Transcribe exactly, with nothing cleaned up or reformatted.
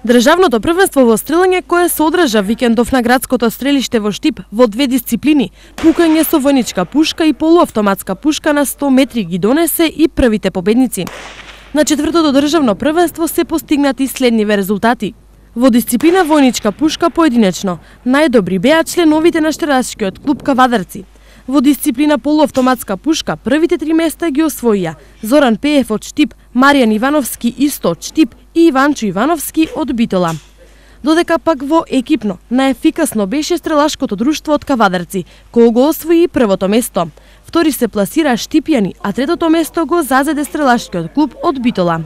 Државното првенство во стрелање кое се одржа викендов на градското стрелиште во Штип во две дисциплини, пукање со војничка пушка и полуавтоматска пушка на сто метри ги донесе и првите победници. На четвртото државно првенство се постигнати следниве резултати. Во дисциплина војничка пушка поединечно, најдобри беа членовите на Штерлачкиот клуб Кавадарци. Во дисциплина полуавтоматска пушка првите три места ги освоија Зоран Пеев од Штип, Маријан Ивановски исто од Штип и Иванчо Ивановски од Битола. Додека пак во екипно најефикасно беше Стрелашкото друштво од Кавадарци, кој го освои првото место. Втори се пласира Штипјани, а третото место го зазеде Стрелашкиот клуб од Битола.